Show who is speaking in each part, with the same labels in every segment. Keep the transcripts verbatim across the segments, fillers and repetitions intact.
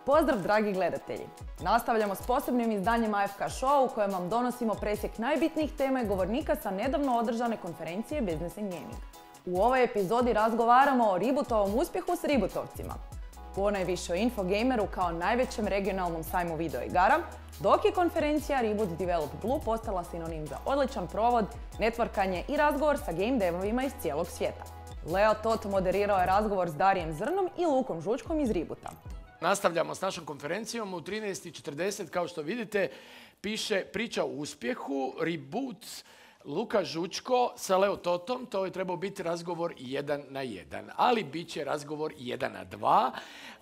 Speaker 1: Pozdrav dragi gledatelji! Nastavljamo s posebnim izdanjem A F K Show u kojem vam donosimo presjek najbitnijih tema i govornika sa nedavno održane konferencije Business and Gaming. U ovoj epizodi razgovaramo o Rebootovom uspjehu s Rebootovcima, ponajviše o Infogameru kao najvećem regionalnom sajmu video igara, dok je konferencija Reboot Develop Blue postala sinonim za odličan provod, networkanje i razgovor sa game devovima iz cijelog svijeta. Leo Tot moderirao je razgovor s Darijem Zrnom i Lukom Žučkom iz Reboota.
Speaker 2: Nastavljamo s našom konferencijom. U trinaest i četrdeset, kao što vidite, piše priča o uspjehu, Reboot, Luka Žučko sa Leo Totom. To je trebao biti razgovor jedan na jedan, ali bit će razgovor jedan na dva.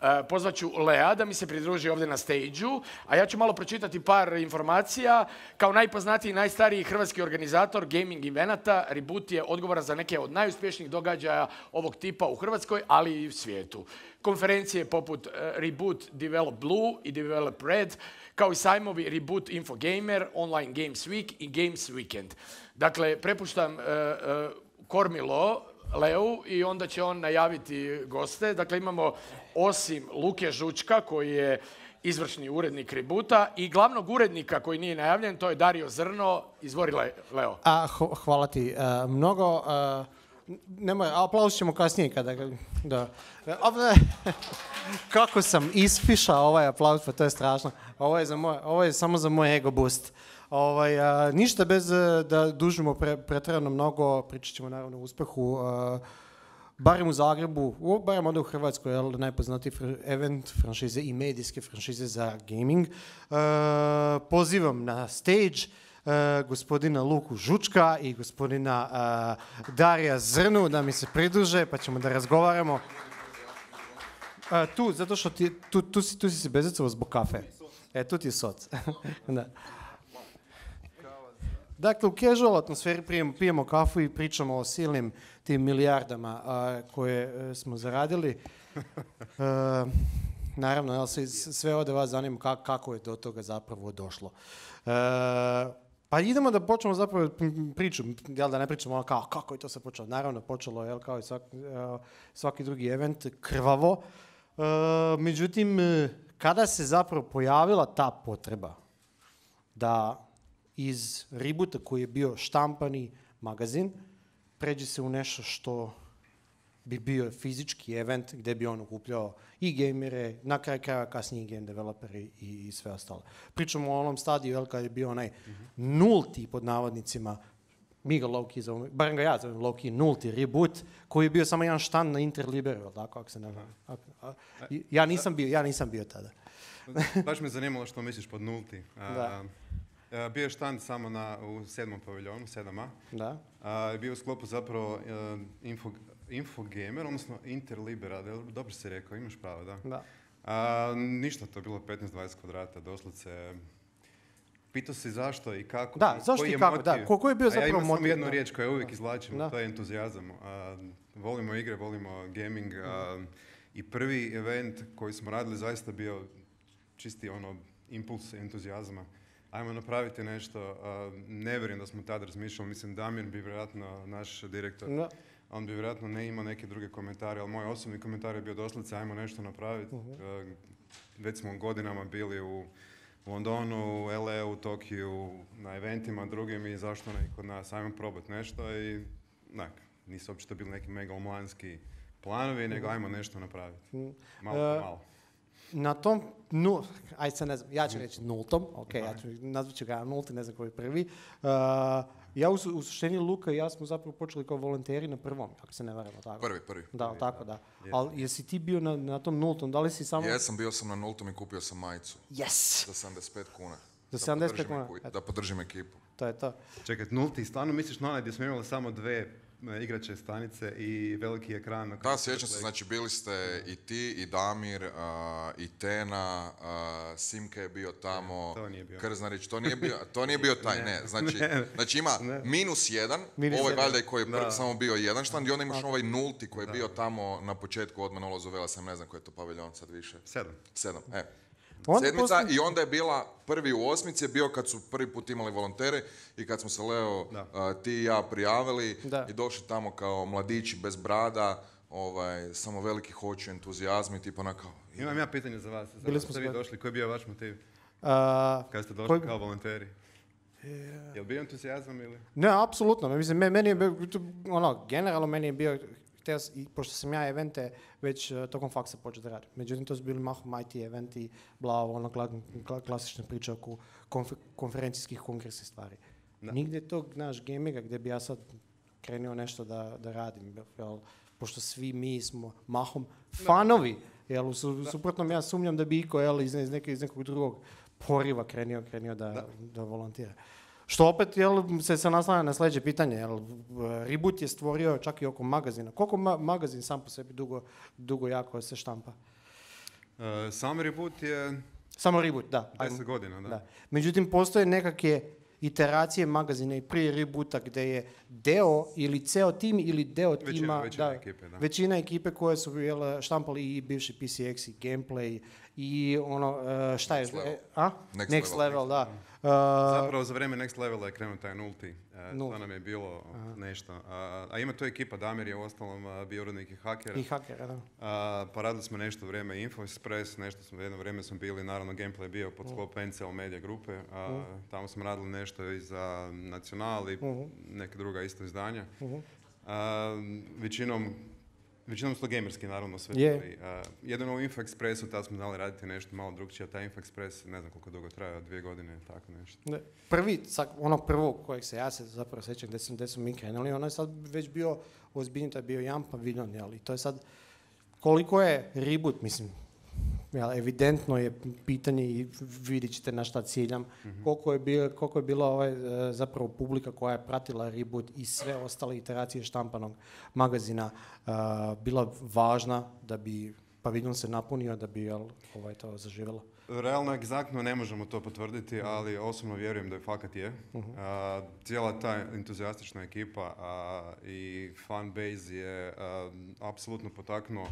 Speaker 2: E, pozvaću Lea da mi se pridruži ovdje na stage-u, a ja ću malo pročitati par informacija. Kao najpoznatiji i najstariji hrvatski organizator gaming evenata, Reboot je odgovoran za neke od najuspješnijih događaja ovog tipa u Hrvatskoj, ali i u svijetu. Konferencije poput Reboot Develop Blue i Develop Red, kao i sajmovi Reboot Infogamer, Online Games Week i Games Weekend. Dakle, prepuštam uh, uh, kormilo Leu i onda će on najaviti goste. Dakle, imamo osim Luke Žučka, koji je izvršni urednik Reboota, i glavnog urednika koji nije najavljen, to je Dario Zrno. Izvori, Leo.
Speaker 3: A, hvala ti. Uh, mnogo... Uh... Nemoj, aplauz ćemo kasnije kada... Da. Kako sam ispišao ovaj aplauz, pa to je strašno. Ovo je, za moj, ovo je samo za moj ego boost. Ovaj, a, ništa bez da dužimo pre, pretjerano mnogo, pričat ćemo naravno o uspjehu, a, barem u Zagrebu, u, barem onda u Hrvatskoj, jel, najpoznatiji fr- event franšize i medijske franšize za gaming. A, pozivam na stage Uh, gospodina Luku Žučka i gospodina uh, Darija Zrnu da mi se pridruže, pa ćemo da razgovaramo. Uh, tu, zato što ti, tu, tu, si, tu si se bezicao zbog kafe. E, tu ti je soc. Da. Dakle, u casual atmosferi pijemo, pijemo kafu i pričamo o silnim tim milijardama uh, koje uh, smo zaradili. Uh, naravno, jel, sve ovdje vas zanima kako, kako je do toga zapravo došlo. Uh, Pa idemo da počnemo zapravo priču, jel, da ne pričamo ono kao kako je to se počelo. Naravno, počelo je kao i svaki, svaki drugi event krvavo. Uh, međutim, kada se zapravo pojavila ta potreba da iz Reboota koji je bio štampani magazin pređe se u nešto što bi bio fizički event gdje bi on okupljao i gamere, na kraju kraja kasnije game developeri i, i sve ostalo. Pričamo o onom stadiju, jel, kad je bio onaj mm-hmm. nulti, pod navodnicima, mi ga low-key zovemo, barem ga ja zovem low-key, nulti Reboot, koji je bio samo jedan štand na Interliberu, tako, ako se ne znam. Ja nisam bio, ja nisam bio tada.
Speaker 4: Baš me zanimalo što misliš pod nulti. Da. Uh, bio je štand samo na, u sedmom paviljonu, sedam A.
Speaker 3: Da.
Speaker 4: Uh, bio u sklopu zapravo uh, info, Infogamer, odnosno Interlibera, dobro si rekao, imaš pravo, da.
Speaker 3: Da.
Speaker 4: A, ništa, to je bilo petnaest dvadeset kvadrata, doslovce. Pitao si zašto i kako.
Speaker 3: Da, zašto i kako, da. Ko, ko je bio zapravo motiv?
Speaker 4: Ja imam samo jednu riječ koju uvijek izvlačim,
Speaker 3: da.
Speaker 4: To je entuzijazam. A, volimo igre, volimo gaming. A, I prvi event koji smo radili zaista bio čisti ono impuls entuzijazma. Ajmo napraviti nešto. A, ne vjerujem da smo tada razmišljali, mislim Damir bi vjerojatno naš direktor. Da. On bi vjerojatno ne imao neke druge komentare, ali moj osobni komentar je bio doslovce ajmo nešto napraviti. Uh-huh. Već smo godinama bili u Londonu, u L A, u Tokiju, na eventima drugim i zašto ne kod nas, ajmo probati nešto i nak, nisu uopće to bili neki megalomanski planovi, nego ajmo nešto napraviti. Malo po malo.
Speaker 3: Na tom, nu, aj se ne znam, ja ću reći nultom, ok, ja ću, nazvat ću ga nulti, ne znam koji je prvi. Uh, ja u, u suštini Luka i ja smo zapravo počeli kao volonteri na prvom, ako se ne varamo, tako.
Speaker 5: Prvi, prvi.
Speaker 3: Da,
Speaker 5: prvi,
Speaker 3: tako, da. Ali jesi ti bio na, na tom nultom, da li si samo...
Speaker 5: Jesam, bio sam na nultom i kupio sam majicu.
Speaker 3: Yes!
Speaker 5: Za sedamdeset pet kuna.
Speaker 3: Za sedamdeset pet kuna?
Speaker 5: Da podržim ekipu.
Speaker 3: To je to.
Speaker 4: Čekaj, nulti, stvarno misliš na onaj gdje smo imali samo dve igrače stanice i veliki ekran?
Speaker 5: Da, sjećam se, znači bili ste i ti, i Damir, uh, i Tena, uh, Simke je bio tamo,
Speaker 4: to nije bio.
Speaker 5: Krznarić, to nije bio, to nije bio taj, ne, ne. Znači, ne. znači ima ne. minus jedan, minus ovaj valjda koji je prvi samo bio jedan štand i onda imaš ovaj nulti koji je bio tamo na početku odmah na ulazu Vela, sam ne znam koji je to paviljon sad više.
Speaker 4: Sedam.
Speaker 5: Sedam, e.
Speaker 3: Onda
Speaker 5: Sedmica
Speaker 3: postoji...
Speaker 5: i onda je bila prvi u osmici je bio kad su prvi put imali volontere i kad smo se Leo, uh, ti i ja prijavili da. I došli tamo kao mladići bez brada, ovaj, samo veliki hoću, entuzijazmi, tipa onako,
Speaker 4: Imam ja pitanje za vas. Za
Speaker 3: Bili
Speaker 4: vas
Speaker 3: smo
Speaker 4: ste vi
Speaker 3: skoro.
Speaker 4: došli, koji je bio vaš motiv?
Speaker 3: Uh,
Speaker 4: Kad ste došli
Speaker 3: koji-
Speaker 4: kao volonteri?
Speaker 3: Yeah.
Speaker 4: Je li bio entuzijazam ili?
Speaker 3: Ne, apsolutno. Mislim, me- meni je bio, ono, generalno meni je bio, htio s- i pošto sam ja evente već uh, tokom faksa počeo da radim. Međutim, to su bili mahom I T eventi, bla, ono, kla- kla- klasične priče oko konf- konferencijskih kongresnih stvari.
Speaker 4: Da.
Speaker 3: Nigdje tog, naš gaminga gdje bi ja sad krenuo nešto da, da radim, jel, pošto svi mi smo mahom fanovi, jel, u su, suprotnom ja sumnjam da bi iko, jel, iz, iz, neke, iz nekog drugog poriva krenuo, krenuo da, da. da volontira. Što opet, jel, se, se naslanja na sljedeće pitanje, jel, Reboot je stvorio čak i oko magazina. Koliko ma- magazin sam po sebi dugo, dugo jako se štampa?
Speaker 4: Uh, sam Reboot je
Speaker 3: Samo Reboot, da.
Speaker 4: deset
Speaker 3: ajmo.
Speaker 4: godina, da.
Speaker 3: Da. Međutim, postoje nekakve iteracije magazina i prije Reboota gdje je deo ili ceo tim ili deo
Speaker 4: Većina-
Speaker 3: tima,
Speaker 4: većina
Speaker 3: da,
Speaker 4: ekipe, da.
Speaker 3: većina ekipe koje su jel, štampali i bivši P C X i gameplay i ono, e, šta je,
Speaker 5: Next level.
Speaker 3: e, a?
Speaker 5: Next
Speaker 3: Next,
Speaker 5: level.
Speaker 3: level, da. Uh,
Speaker 4: Zapravo za vrijeme Next Levela je krenuo taj nulti. Uh,
Speaker 3: Nulti.
Speaker 4: to nam je bilo nešto. Uh, a ima to ekipa, Damir je uostalom uh, bio urednik i hakera.
Speaker 3: I hakera, da.
Speaker 4: Uh, pa radili smo nešto vrijeme Info Express, nešto smo, jedno vrijeme smo bili, naravno Gameplay je bio pod sklop N C L Media grupe. Uh, tamo smo radili nešto i za Nacional i neke druga isto izdanja. Uh, većinom Većinom su to gamerski, naravno, sve.
Speaker 3: Je.
Speaker 4: bili. Uh, jedino u Info Expressu, tad smo znali raditi nešto malo drugčije, a taj Info Express, ne znam koliko dugo traja, dvije godine, tako nešto.
Speaker 3: Ne, Prvi, sak, ono prvo kojeg se ja se zapravo sjećam gdje smo, gdje smo mi krenuli, ono je sad već bio ozbiljno, to je bio jedan paviljon, jel? I to je sad, koliko je Reboot, mislim, jel, evidentno je pitanje i vidjet ćete na šta ciljam, koliko je, bilo, koliko je bila ovaj, e, zapravo publika koja je pratila Reboot i sve ostale iteracije štampanog magazina e, bila važna da bi paviljon se napunio, da bi jel, ovaj, to zaživjelo.
Speaker 4: Realno, egzaktno ne možemo to potvrditi, ali osobno vjerujem da je fakat je. A, cijela ta entuzijastična ekipa a, i fanbase je a, apsolutno potaknuo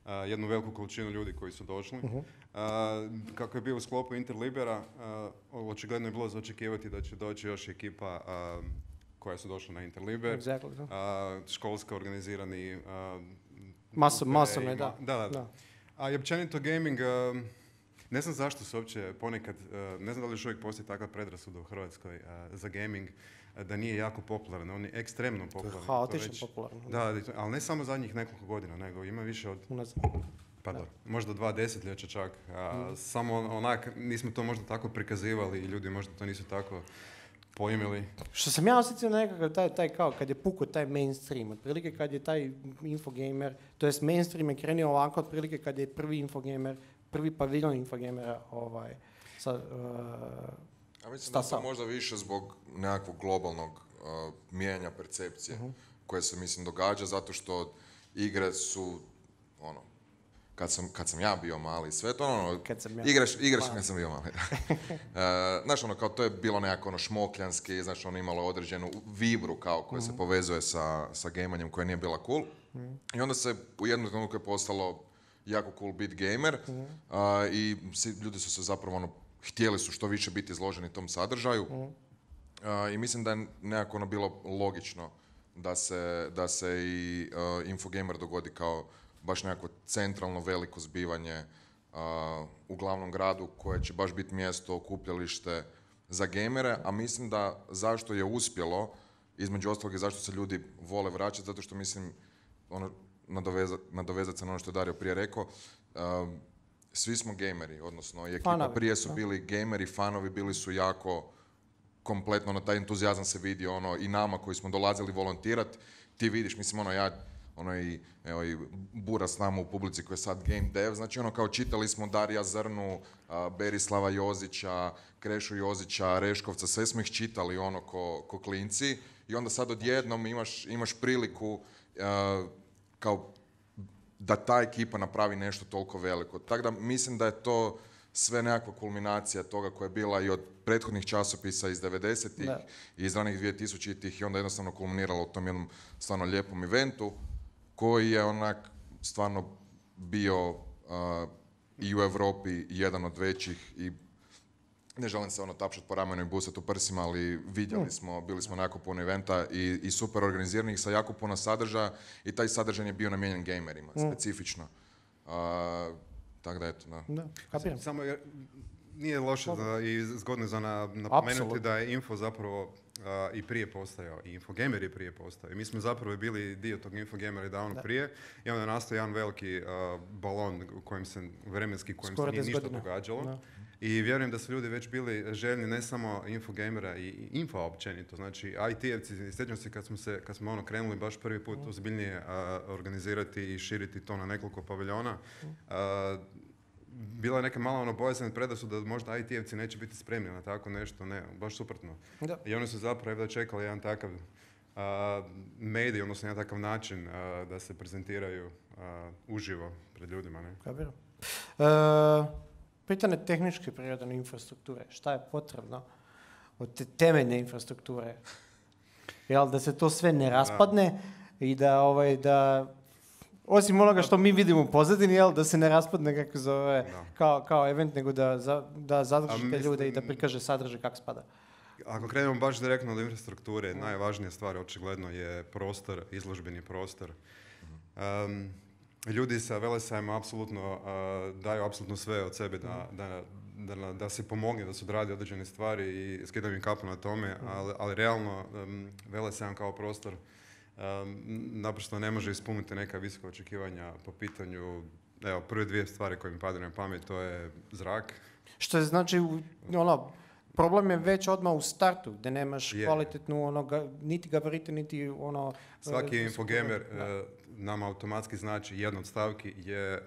Speaker 4: a, jednu veliku količinu ljudi koji su došli. A, kako je bio u sklopu Interlibera, a, očigledno je bilo za očekivati da će doći još ekipa a, koja su došla na Interliber.
Speaker 3: Exactly, da.
Speaker 4: A, školska organizirani a,
Speaker 3: Maso-
Speaker 4: grupe
Speaker 3: masovne,
Speaker 4: i ma-
Speaker 3: da.
Speaker 4: Da, da.
Speaker 3: Da.
Speaker 4: A i općenito gaming, um, ne znam zašto se uopće ponekad, uh, ne znam da li još uvijek postoji takva predrasuda u Hrvatskoj uh, za gaming, uh, da nije jako popularan, on je ekstremno popularan. To
Speaker 3: haotično
Speaker 4: već-
Speaker 3: popularan.
Speaker 4: Da, da, ali ne samo zadnjih nekoliko godina, nego ima više od,
Speaker 3: Unazad.
Speaker 4: pa da, možda dva desetljeća čak. A, Samo onak, nismo to možda tako prikazivali i ljudi možda to nisu tako pojmili.
Speaker 3: Što sam ja osjetio nekakav taj, taj kao kad je pukao taj mainstream, otprilike kad je taj infogamer, to jest mainstream je krenio ovako, otprilike kad je prvi infogamer, prvi paviljon infogamera ovaj, sa, uh,
Speaker 5: Ja mislim da je to
Speaker 3: stasao.
Speaker 5: možda više zbog nekakvog globalnog uh, mijenjanja percepcije koje se, mislim, događa zato što igre su, ono, kad sam, kad sam ja bio mali, sve to ono,
Speaker 3: Kad sam ja
Speaker 5: igraš, igraš
Speaker 3: mali.
Speaker 5: kad sam bio mali. uh, znaš, ono, kao to je bilo nekako ono šmokljanski, znaš, ono imalo određenu vibru kao koja se povezuje sa, sa gamanjem koja nije bila cool. I onda se u jednom trenutku je postalo jako cool bit gamer a, i svi ljudi su se zapravo ono, htjeli su što više biti izloženi tom sadržaju A, i mislim da je nekako ono bilo logično da se, da se i a, Infogamer dogodi kao baš nekako centralno veliko zbivanje a, u glavnom gradu koje će baš biti mjesto, okupljalište za gamere, a mislim da zašto je uspjelo, između ostalog i zašto se ljudi vole vraćati, zato što mislim, ono, nadovezat, nadovezat se na ono što je Dario prije rekao, um, svi smo gameri, odnosno i ekipa
Speaker 3: Fanovi,
Speaker 5: prije su
Speaker 3: da.
Speaker 5: bili gameri, fanovi bili su jako kompletno, ono, taj entuzijazam se vidi, ono, i nama koji smo dolazili volontirati, ti vidiš, mislim, ono, ja, ono, i, evo, i Bura s nama u publici koji je sad game dev, znači, ono, kao čitali smo Darija Zrnu, a, Berislava Jozića, Krešu Jozića, Reškovca, sve smo ih čitali, ono, ko, ko klinci, i onda sad odjednom imaš, imaš priliku a, kao da ta ekipa napravi nešto toliko veliko. Tako da mislim da je to sve nekakva kulminacija toga koja je bila i od prethodnih časopisa iz devedesetih
Speaker 3: Da.
Speaker 5: i iz ranih dvije tisućitih i onda jednostavno kulminiralo u tom jednom stvarno lijepom eventu koji je onak stvarno bio uh, i u Europi jedan od većih i ne želim se ono tapšati po ramenu i busati u prsima, ali vidjeli smo, bili smo na jako puno eventa i, i super organiziranih sa jako puno sadržaja i taj sadržaj je bio namijenjen gamerima, specifično. Uh, Tako da eto, da.
Speaker 3: Da, kapiram.
Speaker 4: Samo je, nije loše da, i zgodno za na, napomenuti
Speaker 3: Apsolutno.
Speaker 4: da je info zapravo uh, i prije postojao, i Infogamer je prije postojao. I mi smo zapravo bili dio tog Infogamera i davno prije, i onda je nastao jedan veliki uh, balon u kojem se, vremenski u kojem
Speaker 3: Skoro
Speaker 4: se nije
Speaker 3: deset
Speaker 4: ništa
Speaker 3: godina.
Speaker 4: događalo.
Speaker 3: Da.
Speaker 4: I vjerujem da su ljudi već bili željni ne samo Infogamera i, i info općenito. Znači, I T-evci, sjećam se kad smo, se, kad smo ono krenuli baš prvi put ozbiljnije uh, organizirati i širiti to na nekoliko paviljona, uh, bila je neka mala ono bojazan predrasuda da možda I T-evci neće biti spremni na tako nešto, ne, baš suprotno.
Speaker 3: Da.
Speaker 4: I oni su zapravo da čekali jedan takav uh, medij, odnosno jedan takav način uh, da se prezentiraju uh, uživo pred ljudima. Ne?
Speaker 3: Kapiram. E, pitanje tehničke prirode infrastrukture. Šta je potrebno od te temeljne infrastrukture? Jel, da se to sve ne raspadne i da, ovaj, da osim onoga što mi vidimo u pozadini, jel, da se ne raspadne kako zove, kao, kao event, nego da, za, da zadrži te
Speaker 4: mislim-
Speaker 3: ljude i da prikaže sadržaj kako spada.
Speaker 4: Ako krenemo baš direktno od infrastrukture, najvažnija stvar očigledno je prostor, izložbeni prostor. Um, ljudi sa Velesajma apsolutno uh, daju apsolutno sve od sebe da, da, da, da se pomogne, da se odradi određene stvari i skidam im kapu na tome, ali, ali realno um, Velesajam kao prostor um, naprosto ne može ispuniti neka visoka očekivanja po pitanju, evo, prve dvije stvari koje mi padaju na pamet, to je zrak.
Speaker 3: Što je znači, u- ono, problem je već odmah u startu, gdje nemaš
Speaker 4: Je.
Speaker 3: kvalitetnu, ono, ga- niti gabarite, niti ono...
Speaker 4: Svaki
Speaker 3: e,
Speaker 4: infogamer
Speaker 3: da.
Speaker 4: e, nama automatski znači jedna od stavki je e,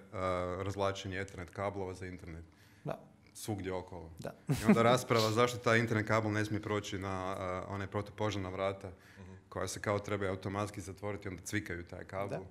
Speaker 4: razvlačenje Ethernet kablova za internet.
Speaker 3: Da.
Speaker 4: Svugdje okolo.
Speaker 3: Da.
Speaker 4: I onda rasprava zašto taj internet kabel ne smije proći na uh, one protupožarna vrata koja se kao trebaju automatski zatvoriti, onda cvikaju taj kabel.
Speaker 3: Da.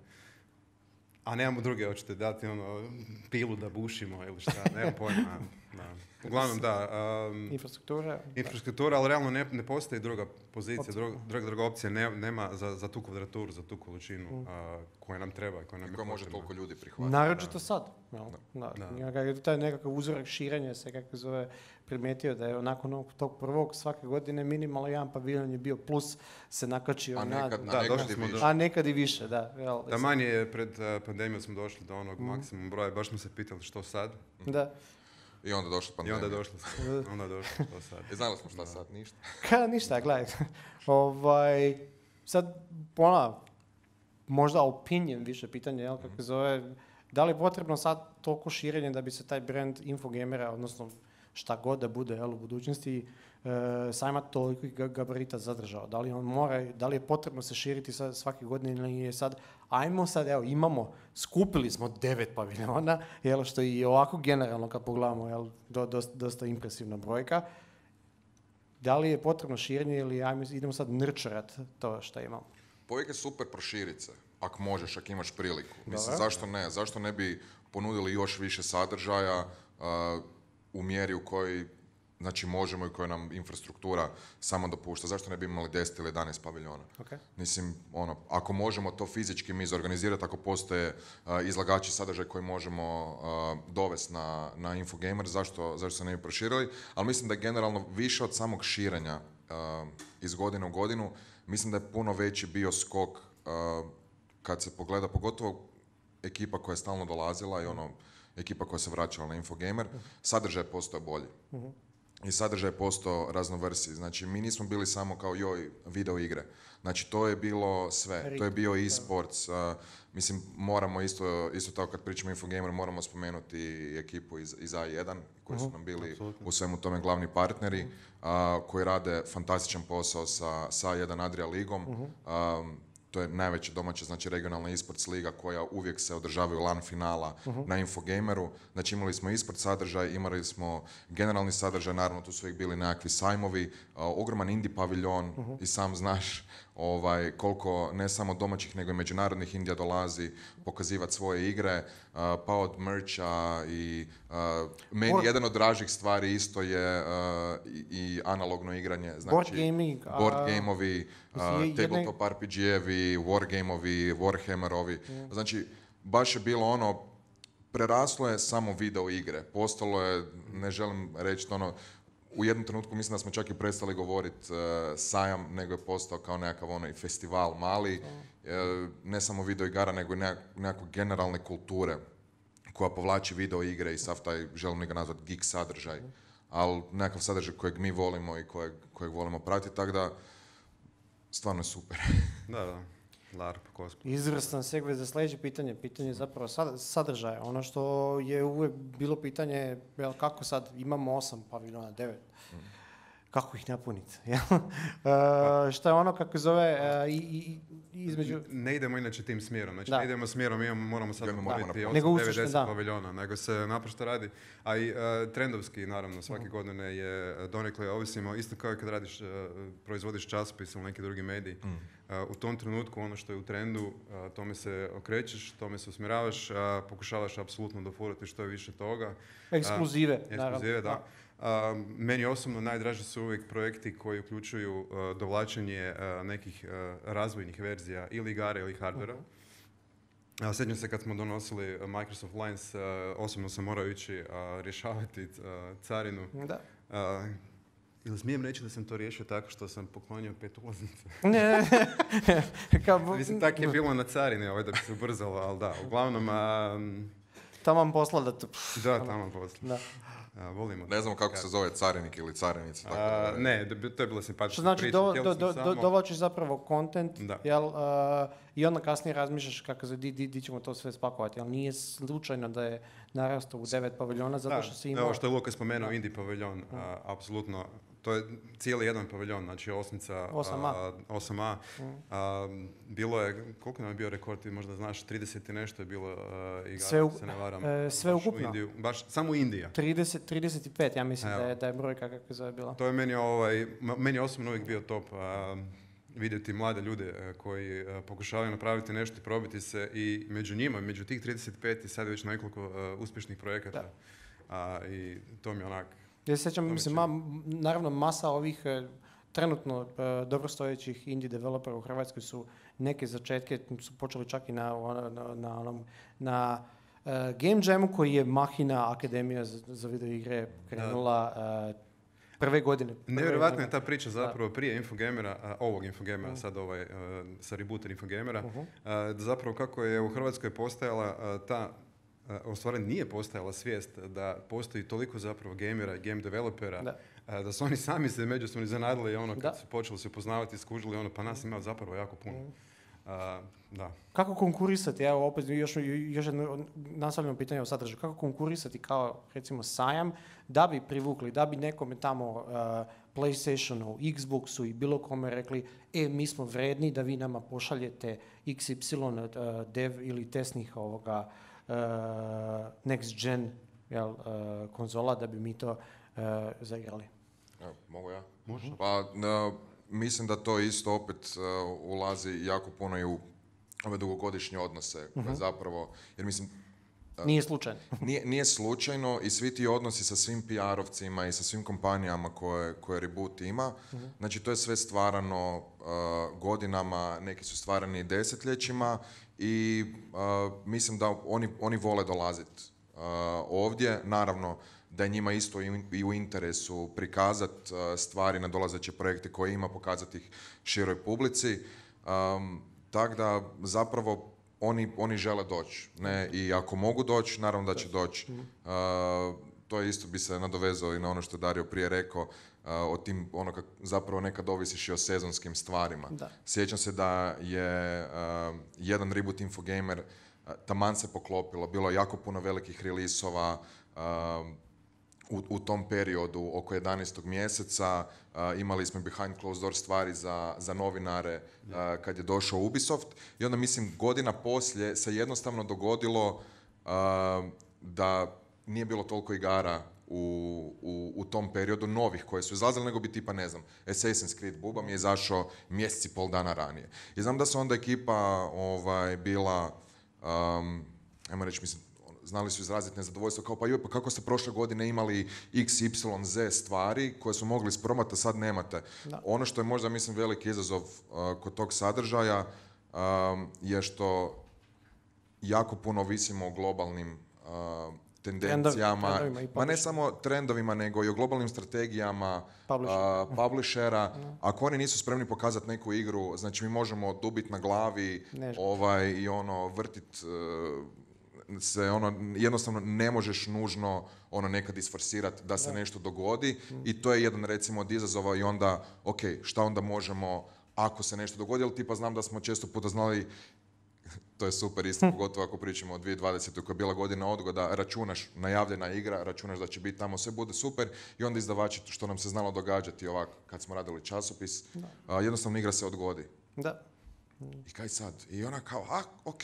Speaker 4: A nemamo druge, hoćete dati ono pilu da bušimo ili šta, nemam pojma. Da. Uglavnom da, um,
Speaker 3: Infrastruktura.
Speaker 4: infrastruktura, ali realno ne, ne postoji druga pozicija, druga, druga, druga opcija, ne, nema za, za tu kvadraturu, za tu količinu a, koja nam treba i koja nam
Speaker 5: I
Speaker 4: je
Speaker 5: koja može
Speaker 4: potrebna.
Speaker 5: toliko ljudi prihvatiti.
Speaker 3: Naročito sad. jel? Da.
Speaker 4: Da.
Speaker 3: Nekakav- Taj nekakav uzorak širenja se, kako zove, primijetio da je nakon onog tog prvog svake godine minimalno jedan paviljon je bio plus se nakačio
Speaker 5: A
Speaker 3: na...
Speaker 5: nekad,
Speaker 4: Da,
Speaker 5: a nekad
Speaker 4: došli
Speaker 5: i
Speaker 4: smo
Speaker 5: više.
Speaker 4: do-
Speaker 3: A nekad i više, da. Jel,
Speaker 4: Da, manje je pred uh, pandemijom smo došli do onog maksimum broja, baš smo se pitali što sad.
Speaker 3: Da.
Speaker 5: I onda došla
Speaker 4: I
Speaker 5: pandemija.
Speaker 4: onda je došlo, onda je došlo što sad.
Speaker 5: I znali smo šta sad, ništa.
Speaker 3: Ka, ništa, gledaj. ovaj, sad, ona, možda opinion više pitanje, jel, kako se zove, da li je potrebno sad toliko širenje da bi se taj brand Infogamera, odnosno šta god da bude, jel, u budućnosti, e, sajma toliko ga- gabarita zadržao? Da li on mora, da li je potrebno se širiti sa, svake godine ili je sad, ajmo sad, evo, imamo, skupili smo devet paviljona, jel, što je i ovako generalno kad pogledamo, jel, do, dosta, dosta impresivna brojka. Da li je potrebno širenje ili ajmo, idemo sad nurturat to što imamo?
Speaker 5: Povijek je super proširit se, ako možeš, ako imaš priliku. Mislim,
Speaker 3: Dobro.
Speaker 5: zašto ne? Zašto ne bi ponudili još više sadržaja uh, u mjeri u kojoj znači možemo i koja nam infrastruktura samo dopušta. Zašto ne bi imali deset ili jedanaest paviljona?
Speaker 3: Okay.
Speaker 5: Mislim, ono, ako možemo to fizički mi izorganizirati, ako postoje uh, izlagači sadržaja koji možemo uh, dovesti na, na Infogamer, zašto, zašto se ne bi proširili? Ali mislim da je generalno više od samog širenja uh, iz godine u godinu, mislim da je puno veći bio skok uh, kad se pogleda, pogotovo ekipa koja je stalno dolazila i ono, ekipa koja se vraćala na Infogamer, sadržaj je postao bolji. I sadržaj je postao raznovrsi. Znači, mi nismo bili samo kao joj, video igre. Znači, to je bilo sve. To je bio e-sports. Uh, mislim, moramo isto, isto tako kad pričamo o Infogamer, moramo spomenuti i ekipu iz, iz A jedan, koji su nam bili u svemu tome glavni partneri, uh, koji rade fantastičan posao sa, sa A jedan Adria ligom. Um, to je najveća domaća, znači regionalna e-sports liga koja uvijek se održavaju LAN finala na Infogameru. Znači imali smo e-sport sadržaj, imali smo generalni sadržaj, naravno tu su uvijek bili nekakvi sajmovi, uh, ogroman indie paviljon i sam znaš ovaj, koliko ne samo domaćih nego i međunarodnih indija dolazi pokazivati svoje igre, uh, pa od mercha i uh, meni
Speaker 3: Board-
Speaker 5: jedan od dražih stvari isto je uh, i, i analogno igranje. Znači,
Speaker 3: Board gaming, a-
Speaker 5: board gameovi,
Speaker 3: Mislim,
Speaker 5: uh,
Speaker 3: je- jedne-
Speaker 5: tabletop R P G-evi, wargameovi, warhammerovi. Znači, baš je bilo ono, preraslo je samo video igre. Postalo je, ne želim reći ono, u jednom trenutku mislim da smo čak i prestali govoriti uh, sajam, nego je postao kao nekakav onaj festival mali, uh, ne samo video igara, nego i nekak, nekakve generalne kulture koja povlači video igre i sav taj, želim ga nazvati, geek sadržaj, ali nekakav sadržaj kojeg mi volimo i kojeg, kojeg volimo pratiti, tako da stvarno je super.
Speaker 4: Da, da. LARP, kosmos.
Speaker 3: Izvrstan segway za sljedeće pitanje. Pitanje je zapravo sadržaja. Ono što je uvijek bilo pitanje, jel, kako sad imamo osam paviljona, devet. Mm. Kako ih napuniti? uh, šta je ono kako zove uh, i, i, između...
Speaker 4: Ne idemo inače tim smjerom. Znači
Speaker 3: da.
Speaker 4: ne idemo smjerom, imamo, moramo sad popuniti
Speaker 3: osam
Speaker 4: devet deset paviljona. Nego se naprosto radi. A i uh, trendovski, naravno, svake mm. godine je donekle ovisimo. Isto kao i kad radiš, uh, proizvodiš časopis ili neki drugi medij. Mm. Uh, u tom trenutku ono što je u trendu, uh, tome se okrećeš, tome se usmjeravaš, uh, pokušavaš apsolutno dofurati što je više toga.
Speaker 3: Ekskluzive,
Speaker 4: uh, ekskluzive, da. Uh, meni osobno najdraži su uvijek projekti koji uključuju uh, dovlačenje uh, nekih uh, razvojnih verzija ili igara ili hardvera. Uh-huh. Uh, sjećam se kad smo donosili Microsoft Lines, uh, osobno sam morao ići uh, rješavati uh, carinu.
Speaker 3: Da.
Speaker 4: Uh, Ili smijem reći da sam to riješio tako što sam poklonio pet ulaznica?
Speaker 3: Ne,
Speaker 4: Kao... Mislim, tako je bilo na carini, ovaj, da bi se ubrzalo, ali da, uglavnom... Um...
Speaker 3: Taman posla da to...
Speaker 4: Da, taman posla. Da. A, volimo.
Speaker 5: Ne znamo kako se zove carinik ili carinica. Tako
Speaker 4: a, ne, to je bilo simpatično.
Speaker 3: Što znači, do, do, do, samo... dovlačiš zapravo content, jel, uh, i onda kasnije razmišljaš kako se, di, di, di ćemo to sve spakovati, ali nije slučajno da je narastao u devet paviljona, zato što si imao...
Speaker 4: Ovo što je Luka spomenuo, indie paviljon, a, apsolutno, to je cijeli jedan paviljon, znači osmica,
Speaker 3: osam A.
Speaker 4: A, osam A. Mm. A, bilo je, koliko nam je bio rekord, ti možda znaš, trideset i nešto je bilo uh, igara,
Speaker 3: sve, u,
Speaker 4: se ne varam.
Speaker 3: E, sve ukupno?
Speaker 4: Indiju, baš samo Indija.
Speaker 3: trideset, trideset i pet, ja mislim da je, da je brojka kako zove bila.
Speaker 4: To je meni, ovaj, meni osobno uvijek bio top. A, vidjeti mlade ljude koji uh, pokušavaju napraviti nešto i probiti se i među njima, među tih trideset pet i sad je već nekoliko uh, uspješnih projekata. Uh, I to mi je onak...
Speaker 3: Ja se sjećam, mislim, ma, naravno masa ovih uh, trenutno uh, dobrostojećih indie developera u Hrvatskoj su neke začetke, su počeli čak i na, na, na, na, na uh, Game Jamu koji je Mahina Akademija za, za video igre krenula uh, prve godine.
Speaker 4: Nevjerojatna je ta priča zapravo da. Prije Infogamera, uh, ovog Infogamera, uh. sad ovaj, uh, sa rebooter Infogamera, uh-huh. uh, zapravo kako je u Hrvatskoj postojala uh, ta, uh, u stvari nije postojala svijest da postoji toliko zapravo gamera i game developera, da. Uh, da su oni sami se međusobno iznenadili ono kad da. Su počeli se upoznavati, skužili ono, pa nas ima zapravo jako puno. Uh. Uh, da.
Speaker 3: Kako konkurisati, evo opet još, još jedno nastavljeno pitanje o sadržaju, kako konkurisati kao recimo sajam da bi privukli, da bi nekome tamo uh, PlayStationu, Xboxu i bilo kome rekli e, mi smo vredni da vi nama pošaljete iks ipsilon uh, dev ili testnih ovoga uh, next gen jel, uh, konzola da bi mi to uh, zaigrali.
Speaker 5: Evo, mogu ja?
Speaker 4: Može.
Speaker 5: Pa, no, mislim da to isto opet uh, ulazi jako puno i u ove dugogodišnje odnose, uh-huh. zapravo, jer mislim...
Speaker 3: Uh, nije slučajno.
Speaker 5: nije, nije slučajno i svi ti odnosi sa svim P R-ovcima i sa svim kompanijama koje, koje Reboot ima, uh-huh. znači to je sve stvarano uh, godinama, neki su stvarani desetljećima i uh, mislim da oni, oni vole dolaziti uh, ovdje, naravno, da je njima isto i u interesu prikazati uh, stvari na dolazeće projekte koje ima, pokazati ih široj publici. Um, tako da zapravo oni, oni žele doći. Ne? I ako mogu doći, naravno da će doći. Uh, to isto bi se nadovezao i na ono što je Dario prije rekao, uh, o tim, ono kak, zapravo nekad ovisiš i o sezonskim stvarima. Da. Sjećam se da je uh, jedan Reboot Infogamer uh, taman se poklopilo, bilo je jako puno velikih rilisova, uh, U, u tom periodu, oko jedanaestog mjeseca, uh, imali smo behind closed door stvari za, za novinare uh, kad je došao Ubisoft i onda mislim godina poslije se jednostavno dogodilo uh, da nije bilo toliko igara u, u, u tom periodu novih koje su izlazile, nego bi tipa, ne znam, Assassin's Creed Buba mi je izašao mjesec i pol dana ranije. I znam da su onda ekipa ovaj, bila, um, ajmo reći, mislim, znali su izraziti nezadovoljstvo, kao pa joj, pa kako ste prošle godine imali iks ipsilon zet stvari koje su mogli ispromati, a sad nemate. Da. Ono što je možda, mislim, veliki izazov uh, kod tog sadržaja um, je što jako puno ovisimo o globalnim uh, tendencijama,
Speaker 3: Trendovi,
Speaker 5: ma ne samo trendovima, nego i o globalnim strategijama Publisher. uh, publishera. Ako oni nisu spremni pokazati neku igru, znači mi možemo dubit na glavi ovaj, i ono vrtit uh, se ono, jednostavno ne možeš nužno ono nekad isforsirati da se nešto dogodi i to je jedan recimo od izazova i onda, ok, šta onda možemo ako se nešto dogodi, ali tipa znam da smo često puta znali, to je super isto, pogotovo ako pričamo o dvije tisuće dvadesetoj koja je bila godina odgoda, računaš, najavljena igra, računaš da će biti tamo, sve bude super i onda izdavači, što nam se znalo događati ovako kad smo radili časopis, a, jednostavno igra se odgodi.
Speaker 3: Da.
Speaker 5: I kaj sad? I ona kao, a, ok,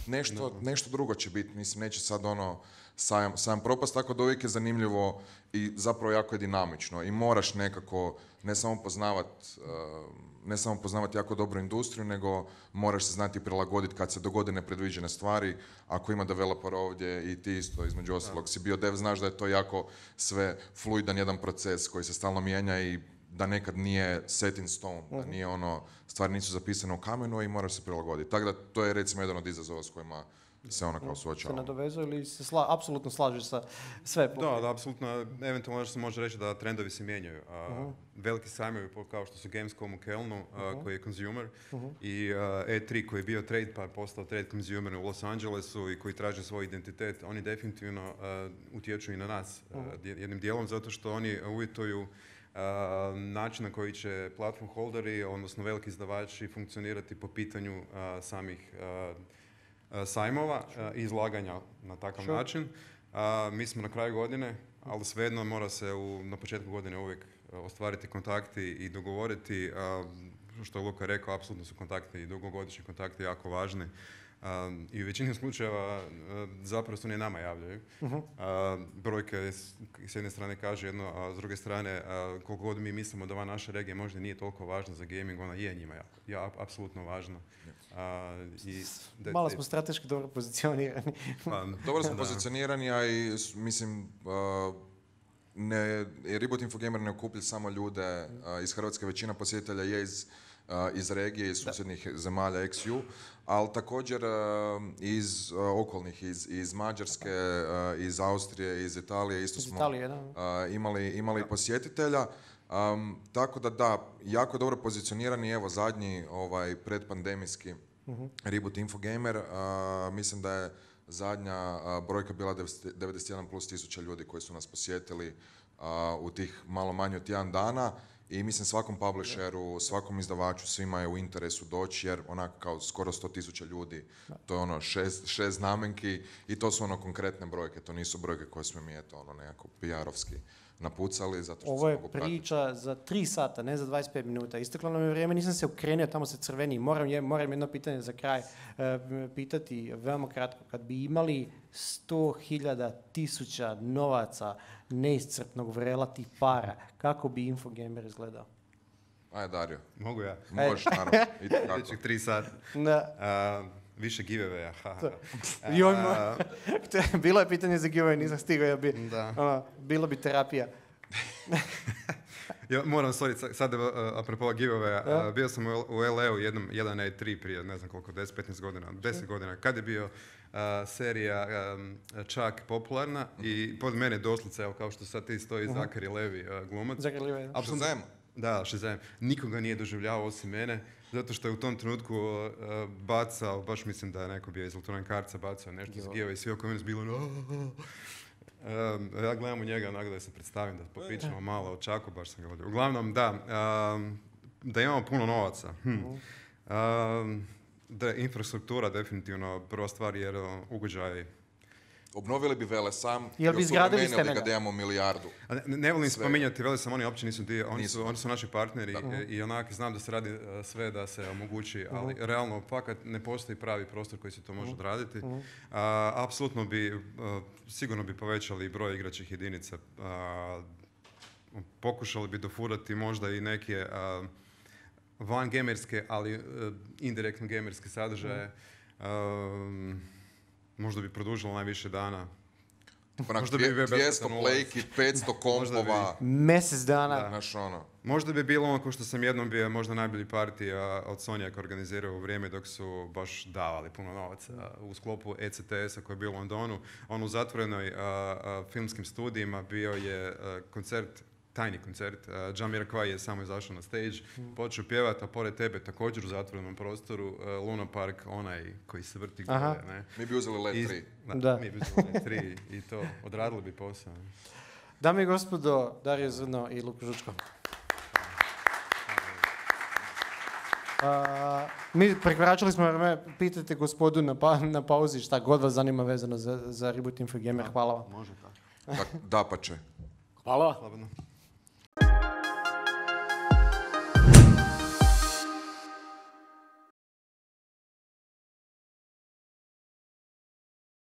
Speaker 5: nešto, nešto drugo će biti, mislim, neće sad ono sajam, sajam propast, tako da uvijek je zanimljivo i zapravo jako je dinamično i moraš nekako ne samo poznavat, uh, ne samo poznavati jako dobru industriju, nego moraš se znati prilagoditi kad se dogode nepredviđene stvari. Ako ima developer ovdje i ti isto, između ostalog, si bio dev, znaš da je to jako sve fluidan jedan proces koji se stalno mijenja i da nekad nije set in stone, da nije ono, stvari nisu zapisane u kamenu i moraš se prilagoditi. Tako da to je recimo jedan od izazova s kojima se ona kao suočava.
Speaker 3: Se nadovezuje ili se sla, apsolutno slažeš sa sve?
Speaker 4: Da, da, apsolutno. Eventualno se može reći da trendovi se mijenjaju. Uh, uh-huh. Veliki sajmovi kao što su Gamescom u Kelnu, uh, uh-huh. koji je consumer, uh-huh. i uh, E tri koji je bio trade pa postao trade consumer u Los Angelesu i koji traže svoj identitet, oni definitivno uh, utječu i na nas uh, jednim dijelom zato što oni uvjetuju uh, način na koji će platform holderi, odnosno veliki izdavači funkcionirati po pitanju uh, samih uh, sajmova i izlaganja na takav sure. način. A, mi smo na kraju godine, ali svejedno mora se u, na početku godine uvijek ostvariti kontakti i dogovoriti. A, što je Luka rekao, apsolutno su kontakti i dugogodišnji kontakti jako važni. A, I u većini slučajeva a, zapravo se oni nama javljaju. Uh-huh. A, brojke s, s jedne strane kaže jedno, a s druge strane a, koliko god mi mislimo da ova naša regija možda nije toliko važna za gaming, ona je njima jako, ja, apsolutno važna. A, i de,
Speaker 3: Malo smo strateški dobro pozicionirani.
Speaker 5: Pa, dobro smo pozicionirani, a i mislim, uh, ne, Reboot Infogamer ne okuplja samo ljude uh, iz Hrvatske, većina posjetitelja je iz, uh, iz regije, iz susjednih da. zemalja ex ju, ali također uh, iz uh, okolnih, iz, iz Mađarske, uh, iz Austrije, iz Italije, isto iz smo Italije, uh, imali, imali posjetitelja. Um, tako da da, jako dobro pozicionirani, evo zadnji ovaj predpandemijski uh-huh. Reboot Infogamer, uh, mislim da je zadnja uh, brojka bila devedeset jedan plus tisuća ljudi koji su nas posjetili uh, u tih malo manje od tjedan dana i mislim svakom publisheru, svakom izdavaču, svima je u interesu doći jer onako kao skoro sto tisuća ljudi, to je ono šest, šest znamenki i to su ono konkretne brojke, to nisu brojke koje smo mi eto ono nekako P R-ovski napucali, zato što
Speaker 3: ovo je priča za tri sata, ne za dvadeset pet minuta. Isteklo nam je vrijeme, nisam se okrenio, tamo se crveni. Moram, je, moram jedno pitanje za kraj uh, pitati, veoma kratko. Kad bi imali sto hiljada tisuća novaca neiscrpnog vrela tih para, kako bi Infogamer izgledao?
Speaker 5: Aj, Dario.
Speaker 4: Mogu ja?
Speaker 5: Možeš, naravno.
Speaker 4: Sljedećih tri sata.
Speaker 3: Da.
Speaker 4: Uh, više giveaway-a.
Speaker 3: Joj, uh, bilo je pitanje za giveaway, nisam stigao, ja bi,
Speaker 4: da.
Speaker 3: Ono, bilo bi terapija.
Speaker 4: Ja moram, sorry, sad uh, apropo giveaway-a, ja? uh, bio sam u, u L A-u jednom, jedan E tri prije, ne znam koliko, deset petnaest godina, deset godina, kad je bio uh, serija um, čak popularna i pod mene doslovce, evo kao što sad ti stoji uh-huh. Zachary Levi, uh, glumac.
Speaker 3: Zachary Levi, da.
Speaker 5: Shazam.
Speaker 4: Da, Shazam. Nikoga nije doživljavao osim mene, zato što je u tom trenutku uh, bacao, baš mislim da je neko bio iz Electronic Artsa bacao nešto iz giveaway i svi oko mene su bilo no, Um, ja gledam u njega onak da se predstavim, da popričamo malo o Čaku, baš sam ga vodio. Uglavnom, da, um, da imamo puno novaca. Hm. Um, da, infrastruktura definitivno prva stvar jer ugođaj.
Speaker 5: Obnovili bi Velesam
Speaker 3: i osuvremenili
Speaker 4: ga
Speaker 5: da imamo milijardu.
Speaker 4: A ne, ne volim sve. Spominjati Velesam, oni uopće nisu dio, oni, nisu. Su, oni su naši partneri i, i onak znam da se radi uh, sve da se omogući, ali uh-huh. realno fakat ne postoji pravi prostor koji se to može uh-huh. odraditi. Uh-huh. Uh, apsolutno bi, uh, sigurno bi povećali broj igračkih jedinica, uh, pokušali bi dofurati možda i neke uh, van gamerske, ali uh, indirektno gamerske sadržaje. Uh-huh. Uh, Možda bi produžilo najviše dana.
Speaker 5: Možda bi dvjesto plejki, petsto kompova.
Speaker 3: Mjesec dana.
Speaker 5: Da. Naš ono.
Speaker 4: Možda bi bilo ono ko što sam jednom bio možda najbolji partija od Sonjaka organizirao u vrijeme dok su baš davali puno novaca u sklopu E C T S-a koji je bio u Londonu. On u zatvorenoj a, a, filmskim studijima bio je a, koncert tajni koncert. Uh, Jamiroquai je samo izašao na stage, mm. počeo pjevati, a pored tebe također u zatvorenom prostoru uh, Luna Park, onaj koji se vrti gore. Ne?
Speaker 5: Mi bi uzeli Let tri.
Speaker 4: Da, da. Mi bi uzeli Let tri i to, odradili bi posao.
Speaker 3: Dame i gospodo, Dario Zrno i Luka Žučko. Uh, mi prekoračili smo vreme, pitajte gospodu na, pa, na pauzi šta god vas zanima vezano za, za Reboot Info Gamer. Hvala vam.
Speaker 4: Može tako.
Speaker 5: Da, da pa će.
Speaker 2: Hvala.
Speaker 4: Slobodno.